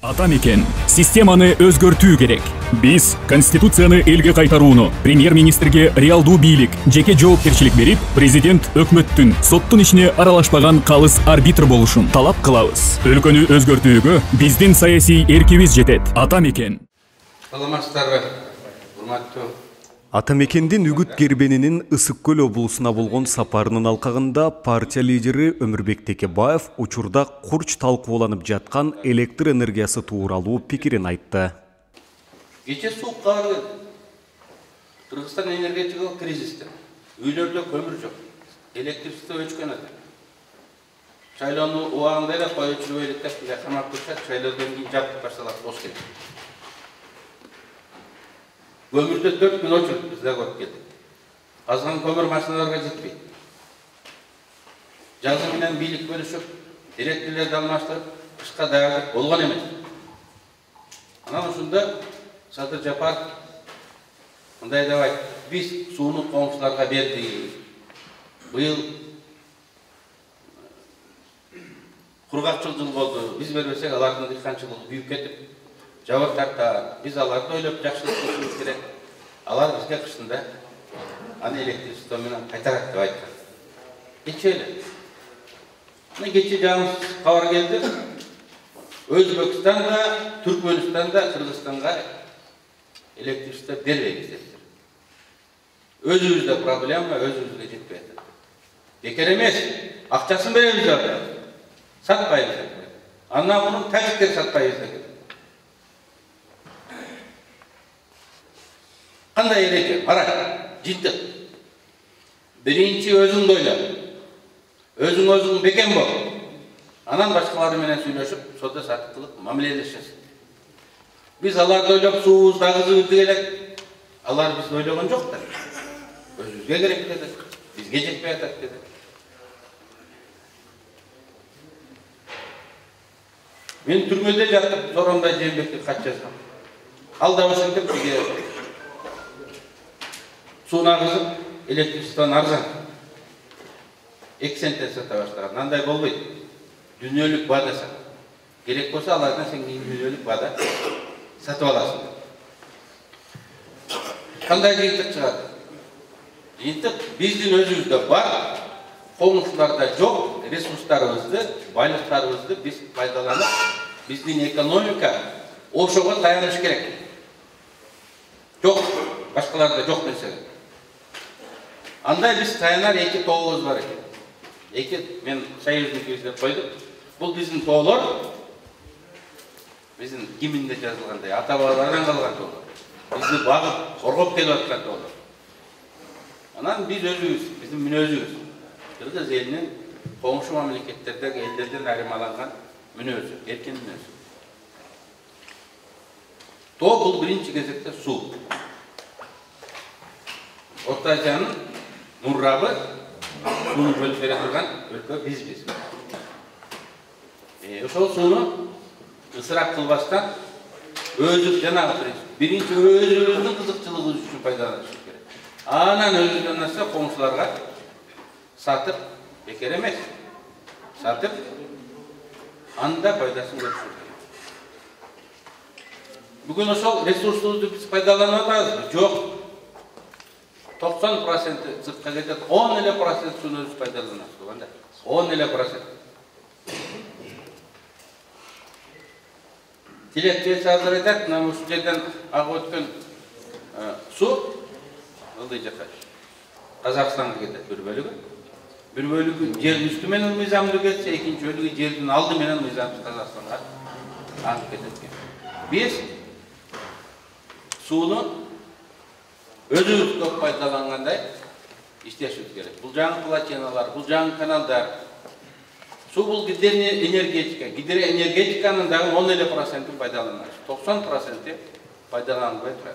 Ата мекен системаны өзгөртүү керек. Биз Конституцияны элге кайтарууну, премьер-министрге реалдуу бийлик, жеке жоопкерчилик берип, президент өкмөттүн соттун ишине аралашпаган калыс арбитр болушун талап кылабыз. Өлкөнү өзгөртүүгө биздин саясий эркибиз жетет. Ата мекен. Саламатсыздарбы, урматтуу. Ата мекендин Үгүт Кербенинин Ысык Көл облусуна болгон сапарынын алкагында партия лидери Өмүрбек Текебаев учурда курч талкууланып жаткан электр энергиясы тууралуу пикирин айтты. Кече суук кабар келди. Кыргызстан энергетикалык кризисте. Үйлөрдө көмүр жок. Электричество өчкөн ата. Шайлоону убагында эле коюучу электр камап турушат, шайлоодон кийин жаптып башталат, бос келет. Көмүрдө 4 күн өчүрүп бизде көрүп келдик. Азган көмүр машиналарга жетпейт. Жазы менен бийлик бөлүшүп, директорлорду алмаштырып, кышка даярдык болгон эмес. Анан ушунда Садыр Жапаров мындай деп айтты: биз сууну коңшуларга бердик. Быйыл кургакчыл жыл болду. Биз бербесек алардын дыйканчылыгы күйүп кетип, жабыр тарта. Биз аларды ойлоп жакшылык кылышыбыз керек. Алар бизге кышында аны электричество менен кайтарат деп айткан. Кече эле. Мына кече жаңы кабар келди. Өзбекстанда, Түркмөнстанда, Кыргызстанга электричество бербейбиз дептир. Өзүбүздө проблема, өзүбүзгө жетпей атат. Бекер эмес, акчасын беребиз алар. Сатпайбыз. Андан муну тажиктер сатпайбыз деген. Кандай эреже? Ара, жинтик. Биринчи өзүңдү ойла. Өзүң бекен бол. Анан башкалар менен сүйлөшүп, соода саттык мамилелешесиң. Биз аларды ойлоп суубузду, агызыбызды келек. Алар бизди ойлогон жок да. Өзүбүзгө керек деди. Бизге жетпей атат деди. Мен түрмөдө жатып, Зоронбай Жээнбекке кат жазгам. Ал да ошентип бизге сууну агызып, электричествону арзан 2 центтен сата баштаган. Андай болбойт. Дүйнөлүк баада сат. Керек болсо алардан сен дүйнөлүк баада сатып аласың. Кандай жыйынтык чыгат? Жыйынтык биздин өзүбүздө бар, коңшуларда жок ресурстарыбызды, байлыктарыбызды биз пайдаланып, биздин экономика ошого таяныш керек. Жок, башкаларда жок нерсе. Андай биз таянар 2 тообуз бар экен. 2 мен союзникибиз деп койдук. Бул биздин тоолор, биздин гимнде жазылгандай, ата-бабалардан калган тоолор. Бизди багып, коргоп келип аткан тоолор. Анан биз өзүбүз, биздин мүнөзүбүз. Кыргыз элинин коңшу мамлекеттердеги элдерден айырмаланган мүнөзү, эркин мүнөзү. Тоо бул биринчи кезекте суу. Орто Азиянын муррабы сууну бөлүп бере турган өлкө бизбиз. Ошол сууну ысырап кылбастан өзүбүз жанагы принцип. Биринчи өзүбүздүн кызыкчылыгыбыз үчүн пайдаланышыбыз керек. Анан өзүбүздөн нерсе коңшуларга сатып, бекер эмес. Сатып, анда пайдасын көрүшүбүз керек. Бүгүн ошол ресурсубузду биз пайдаланып атабызбы? Жок. 90% сыртка кетет, 10% сууну өзүбүз пайдаланабыз. Кандай? 10%. Тилектечи азыр айтат, мына ушул жерден агып өткөн суу ылдый жака Казакстанга кетет бир бөлүгү. Бир бөлүгү жердин үстү менен мыйзамдуу кетсе, экинчи бөлүгү жердин алды менен мыйзамсыз Казакстанга аңып кетет. Биз сууну өзүбүз көп пайдалангандай иштешибиз керек. Бул жаңы плотиналар, бул жаңы каналдар. Суу бул гидроэнергетика. Гидроэнергетиканын дагы 10% пайдаланабыз. 90% пайдаланылбай турат.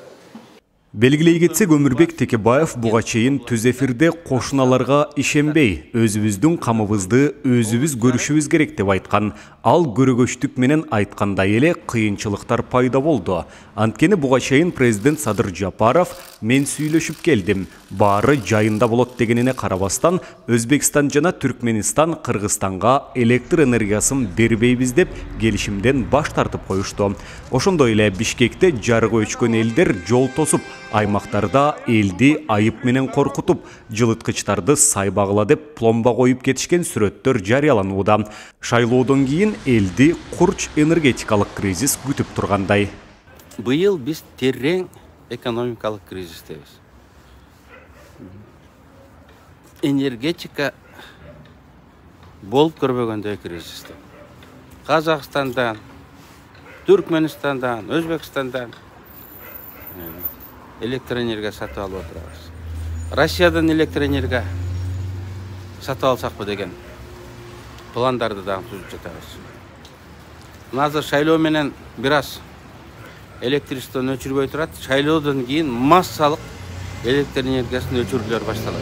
Белгилей кетсек, Өмүрбек Текебаев буга чейин түз эфирде кошуналарга ишенбей, өзүбүздүн камыбызды өзүбүз көрүшүбүз керек деп айткан. Ал көрөгөчтүк менен айткандай эле кыйынчылыктар пайда болду. Анткени буга чейин президент Садыр Жапаров мен сүйлөшүп келдим, баары жайында болот дегенине карабастан, Өзбекстан жана Түркменистан Кыргызстанга электр энергиясын бербейбиз деп келишимден баш тартып коюшту. Ошондой эле Бишкекте жарыгы өчкөн элдер жол тосуп, аймактарда элди айып менен коркутуп, жылыткычтарды сайбагыла деп пломба коюп кетишкен сүрөттөр жарыяланууда. Шайлоодон кийин элди курч энергетикалык кризис күтүп тургандай. Быйыл биз терең экономикалык кризистебиз. Энергетика болуп көрбөгөндөй кризисте. Казакстандан, Түркменистандан, Өзбекстандан электроэнергия сатып алып отурабыз. Россиядан электроэнергия сатып алсакпы деген пландарды дагы түзүп жатабыз. Азыр шайлоо менен бир аз электричествону өчүрбөй турат. Шайлоодон кийин массалык электр энергиясын өчүрүүлөр башталат.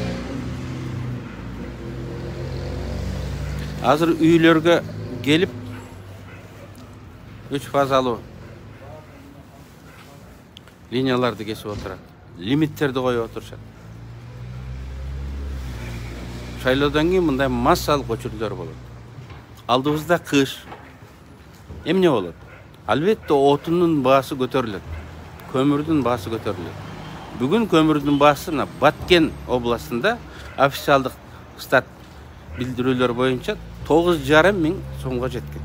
Азыр үйлөргө келип 3 фазалуу линияларды кесип отурат. Лимиттерди коюп отурушат. Шайлоодон кийин мындай массалык өчүрүүлөр болот. Алдыбызда кыш. Эмне болот? Албетте отундун баасы көтөрүлөт. Көмүрдүн баасы көтөрүлөт. Бүгүн көмүрдүн баасы Баткен областында официалдык стат билдирүүлөр боюнча 9,5 миң сомго жеткен.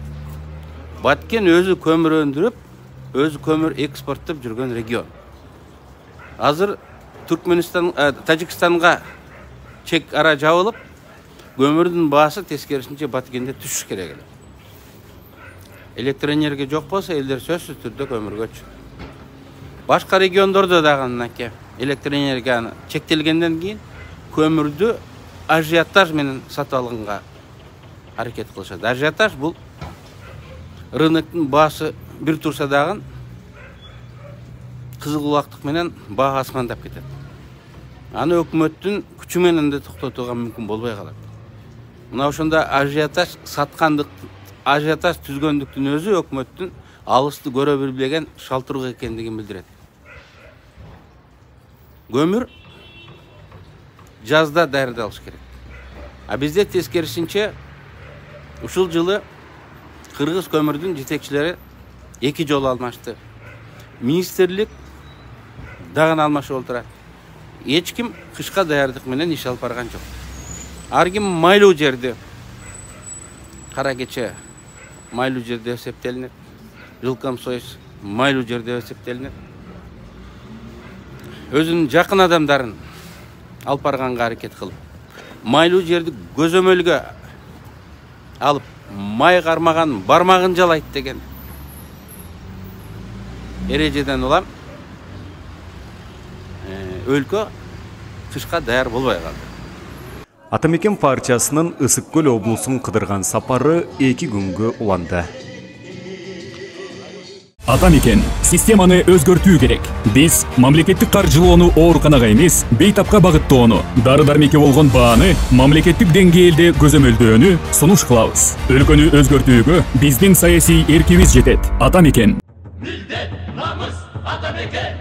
Баткен өзү көмүр өндүрүп, өзү көмүр экспорттоп жүргөн регион. Азыр Түркменистан, Тажикстанга чек ара жабылып, көмүрдүн баасы тескерисинче Баткенде түшүш керек эле. Электроэнергия жок болсо, элдер сөзсүз түрдө көмүргө өчөт. Башка региондордо дагы мынакей электроэнергияны чектелгенден кийин көмүрдү ажиотаж менен сатып алганга аракет кылышат. Ажиотаж бул рыноктун баасы бир турса дагы кызыл кулактык менен баа асмандап кетет. Аны өкмөттүн күчү менен да токтотууга мүмкүн болбой калат. Мына ошондо ажиотаж саткандык, ажиотаж түзгөндүктүн өзү өкмөттүн алысты көрө билбеген шалтыруу экендигин билдирет. Көмүр жазда даярдалыш керек. А бизде тескерисинче ушул жылы кыргыз көмүрдүн жетекчилери 2 жолу алмашты. Министрлик дагы алмашып отурат. Эч ким кышка даярдык менен иш алып барган жок. Ар ким майлуу жерди, кара кече майлуу жерде эсептелинет. Жилкомсоюз майлуу жерде эсептелинет. Өзүнүн жакын адамдарын алып барганга аракет кылып, майлуу жерди көзөмөлгө алып, май кармаган бармагын жалайт деген эрежеден улам өлкө кышка даяр болбой калды. Атамекен партиясынын Ысык Көл облусун кыдырган сапары 2 күнгө уланды. Атамекен системаны өзгөртүү керек. Биз мамлекеттик каржылоону ооруканага эмес, бейтапка багыттоону, дары-дармекке болгон бааны мамлекеттик деңгээлде көзөмөлдөөнү сунуш кылабыз. Өлкөнү өзгөртүүгө биздин саясий эркибиз жетет. Атамекен. Милдет, намыс, Атамекен.